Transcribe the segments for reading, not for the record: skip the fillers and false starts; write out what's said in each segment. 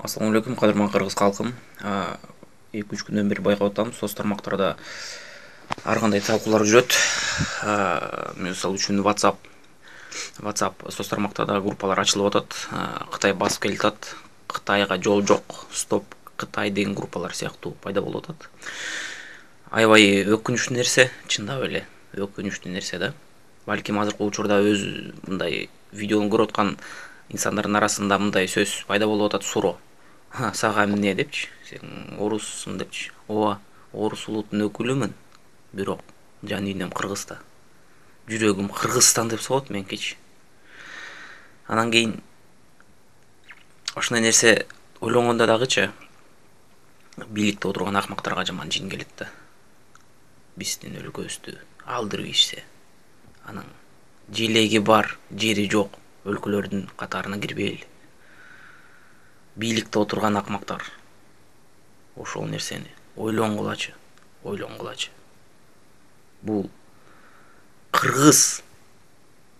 Assalamu alaikum, кадырман кыргыз калкым. 2-3 күндөн бери байкап атам, соц тармактарда ар кандай талкуулар жүрөт. Мисалы үчүн WhatsApp соц тармактарда группалар ачылып атат. Кытай басып келатат. Кытайга жол жок, стоп Кытай деген группалар сыяктуу пайда болуп атат. Аябай өкүнүчтүү нерсе, чындап эле өкүнүчтүү нерсе да. Балким азыркы учурда өз мындай видеону көрүп аткан инсандардын арасында мындай сөз пайда болуп атат: суроо. Сага эмне депчи, сен оруссуң депчи. Ооба, орус улутунун өкүлүмүн, бирок жан дүйнөм Кыргызда. Жүрөгүм Кыргызстан деп согот меникичи. Анан кийин ошондой нерсе ойлонгондо дагычы бийликте отурган акмактарга жаман жин келет да. Биздин өлкөбүздү алдырып ишсе, анан желеги бар, жери жок өлкөлөрдүн катарына кирбейли. Бийликте отурган акмактар ошол нерсени ойлонгулачы. Бул Кыргыз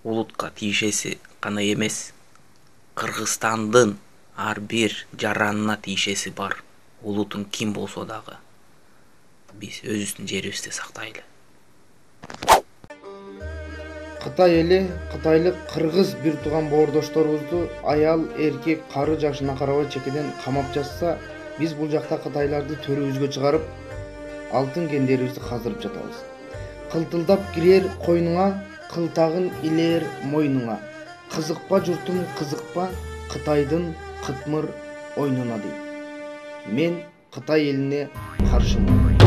улутка тиешеси гана эмес, Кыргызстандын ар бир жаранына тиешеси бар. Улутун ким болсо дагы биз өзүбүздүн жерибизди сактайлы. Кытай эли кытайлык кыргыз бир тууган боордошторубузду аял, эркек, кары жашына карабай чекеден камап жатса, биз бул жакта кытайларды төрүбүзгө чыгарып, алтын кендерибизди каздырып жатабыз. Кылтылдап кирер койнуңа, кылтагын илер мойнуңа. Кызыкпа журтум, кызыкпа Кытайдын кытмыр ойнуна дейт. Мен Кытай элине каршымын.